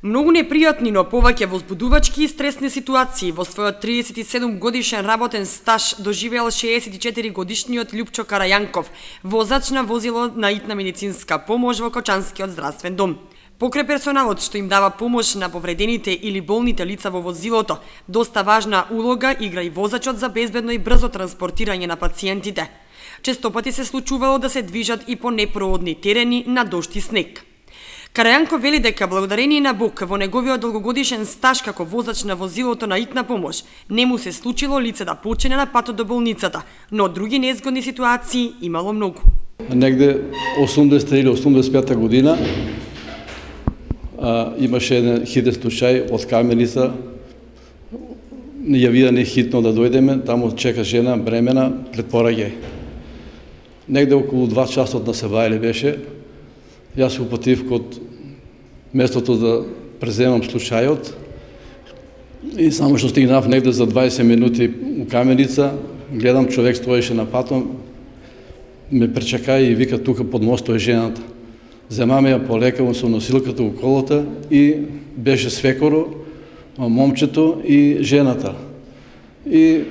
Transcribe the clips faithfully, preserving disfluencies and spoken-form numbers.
Многу непријатни, но повеќе возбудувачки и стресни ситуации во својот триесет и седум годишен работен стаж доживеал шеесет и четири годишниот Љупчо Карајанков, возач на возило на итна медицинска помош во Кочанскиот здравствен дом. Покрај персоналот што им дава помош на повредените или болните лица во возилото, доста важна улога игра и возачот за безбедно и брзо транспортирање на пациентите. Често пати се случувало да се движат и по непроодни терени на дожд и снег. Карајанков вели дека благодарение на Бог во неговиот долгогодишен стаж како возач на возилото на итна помош не му се случило лице да почине на патот до болницата, но други незгодни ситуации имало многу. Негде осумдесета или осумдесет и пета година а, имаше еден хитен случај од Каменица. Ја вида не хитно да дојдеме, таму чека жена бремена пред пораѓај. Негде околу два часот на Сабајле беше. Јас се упатив код местото да преземам случајот и само што стигнав негде за дваесет минути у Каменица, гледам човек стоеше на патом, ме пречака и вика тука под мостот е жената. Земаме ја полекавам со носилката у колата и беше свекоро, момчето и жената. И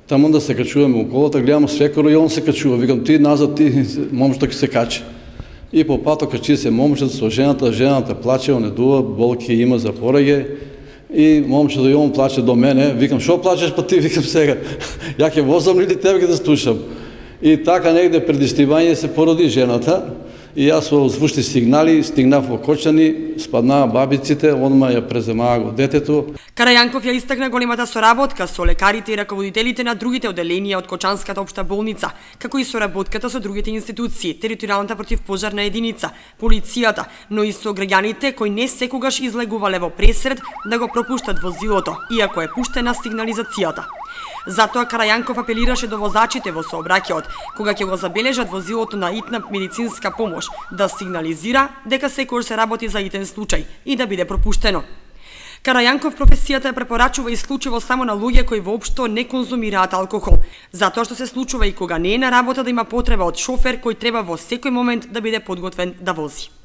таму да се качуваме у колата, гледам свекоро и он се качува. Викам ти назад, ти момчето ќе се качи. И по патот качи се момчето со жената, жената плаче, онедува, болки има за пораѓај. И момчето и он плаче до мене. Викам, шо плачеш па ти? Викам сега, ја ќе возам или тебе ќе да слушам? И така негде пред истивање се породи жената. И јас со звучни сигнали стигнав во Кочани, спаднаа бабиците, одма ја преземаа го детето. Карајанков ја истакна големата соработка со лекарите и раководителите на другите оделенија од Кочанската општа болница, како и соработката со другите институции, територијалната противпожарна единица, полицијата, но и со граѓаните кои не секогаш излегувале во пресред да го пропуштат возилото, иако е пуштена сигнализацијата. Затоа Карајанков апелираше до возачите во сообраќајот, кога ќе го забележат возилото на итна медицинска помош, да сигнализира дека секој се работи за итен случај и да биде пропуштено. Карајанков професијата ја препорачува исклучиво само на луѓе кои воопшто не конзумираат алкохол, затоа што се случува и кога не е на работа да има потреба од шофер кој треба во секој момент да биде подготвен да вози.